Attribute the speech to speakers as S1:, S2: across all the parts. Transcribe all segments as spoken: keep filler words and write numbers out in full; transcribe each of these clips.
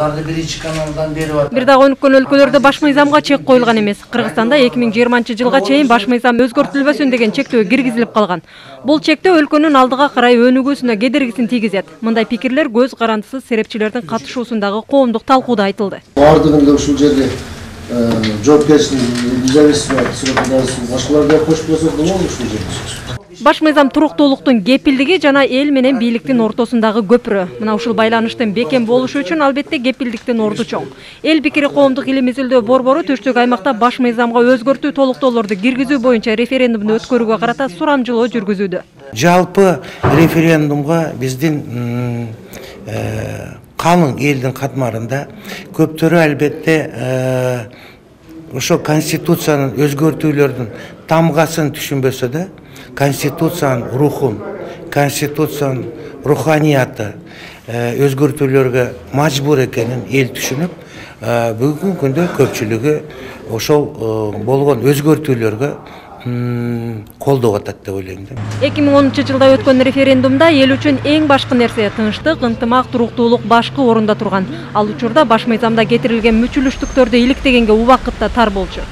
S1: биринчи каналдан берип атат.
S2: Бир дагы өнүккөн өлкөлөрдө баш мыйзамга чек коюлган эмес. Кыргызстанда эки миң жыйырманчы жылга чейин баш мыйзам өзгөртүлбөсүн деген чектөө киргизилип калган. Бул чектөө өлкөнүн алдыга карай өнүгүүсүнө кедергисин тийгизет. Мындай пикирлер көз карандысыз серепчилердин катышуусундагы коомдук талкууда айтылды.
S1: Бардыгында ушул жерде жоопкерчилик независимдик башкаларга кошуп койсок болобу ушул жерде?
S2: Баш мыйзам туруктуулуктун кепилдиги жана эл менен бийликтин ортосундагы көпүрө. Мына ушул байланыштын бекем болушу үчүн албетте кепилдиктин орду чоң. Эл пикири коомдук илим изилдөө борбору түштүк аймакта баш мыйзамга өзгөртүү толуктоолорду киргизүү боюнча референдумду өткөрүүгө карата сурамжылоо жүргүзүүдө.
S3: Жалпы референдумга биздин калың элдин катмарында көптөрү албетте ошо конституциянын өзгөртүүлөрдүн тамгасын түшүнбөсө да, конституциянын рухун, конституциянын руханияты өзгөртүүлөргө мажбур экенин эл түшүнүп, бүгүнкү күндө көпчүлүгү ошол болгон өзгөртүүлөргө колдоп атат деп ойлойм да.
S2: эки миң онунчу жылда өткөн референдумда эл үчүн эң башкы нерсе тынчтык, ынтымак, туруктуулук башкы орунда турган. Ал учурда баш мыйзамда кетирилген мүчүлүштүктөрдү иликтегенге убакытта тар болчу.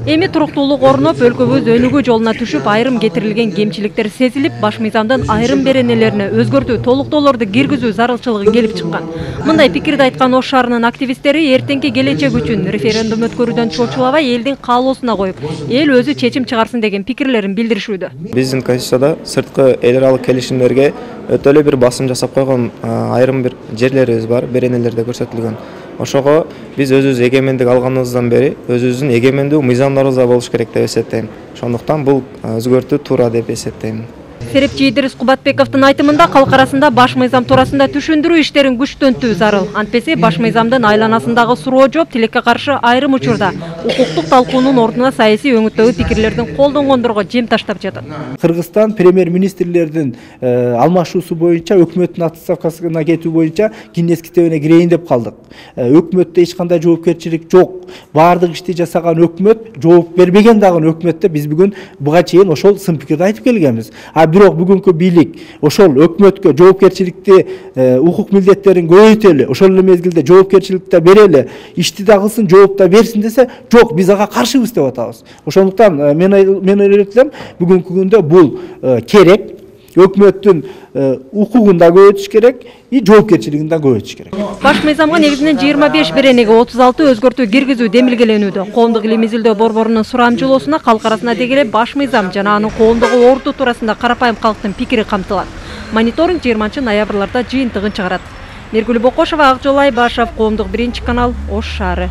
S2: Эми туруктуулук орноп, өлкөбүз өнүгүү жолуна түшүп, айрым кетирилген кемчиликтер сезилип, баш мыйзамдын айрым беренелерине өзгөртүү, толуктоолорду киргизүү зарылчылыгы келип чыккан. Мындай пикирди айткан Ош шаарынын активисттери эртеңки келечек үчүн референдум өткөрүүдөн чочулабай элдин каалоосуна коюп, эл өзү чечим чыгарсын деген пикирлерин билдиришүүдө.
S4: Биздин конституцияда сырткы эл аралык келишимдерге өтө эле бир басым жасап койгон айрым бир жерлерибиз бар, беренелерде көрсөтүлгөн. Ошого биз өзүбүз эгемендик алганыбыздан бери өзүбүздүн эгемендүү мыйзамдарыбызда болуш керек деп эсептейм. Ошондуктан бул өзгөртүү туура деп эсептейм.
S2: Серепчи Идирис Кубатбековдун айтымында калк арасында баш мыйзам туурасында түшүндүрүү иштерин күчтөнтүү зарыл. Антпесе баш мыйзамдын айланасындагы суроо жооп тилекке каршы айрым учурда укуктук талкуунун ордуна саясий өңүттөгү пикирлердин колдонгондорго жем таштап жатат.
S5: Кыргызстан премьер-министрлердин алмашуусу боюнча өкмөттүн отставкасына кетүү боюнча Гиннес китебине кирейин деп калдык. Өкмөттө эч кандай жоопкерчилик жок. Баардык ишти жасаган өкмөт, жооп бербеген дагы өкмөттө биз бүгүн буга чейин ошол сын пикирди айтып келгенбиз. Бирок бүгүнкү бийлик ошол өкмөткө жоопкерчиликти, укук милдеттерин көбөйтөлү, ошол эле мезгилде жоопкерчиликти берели, ишти да кылсын, жооп да берсин десе, жок, биз ага каршыбыз деп атабыз. Ошондуктан мен мен ойлойм, бүгүнкү күндө бул керек, өкмөттүн укугун да көбөйтүш керек, и жоопкерчилигин да көбөйтүш керек.
S2: Баш мыйзамга негизинен жыйырма беш беренеге отуз алты өзгөртүү киргизүү демилгеленүүдө. Коомдук илим изилдөө борборунун сурамжылоосуна калк арасына дегеле баш мыйзам жана анын коомдогу орду туурасында карапайым калктын пикири камтылат. Мониторинг жыйырманчы ноябрларда жыйынтыгын чыгарат. Мергүл Бокошова, Акжол Айбашев, Коомдук биринчи канал, Ош шаары.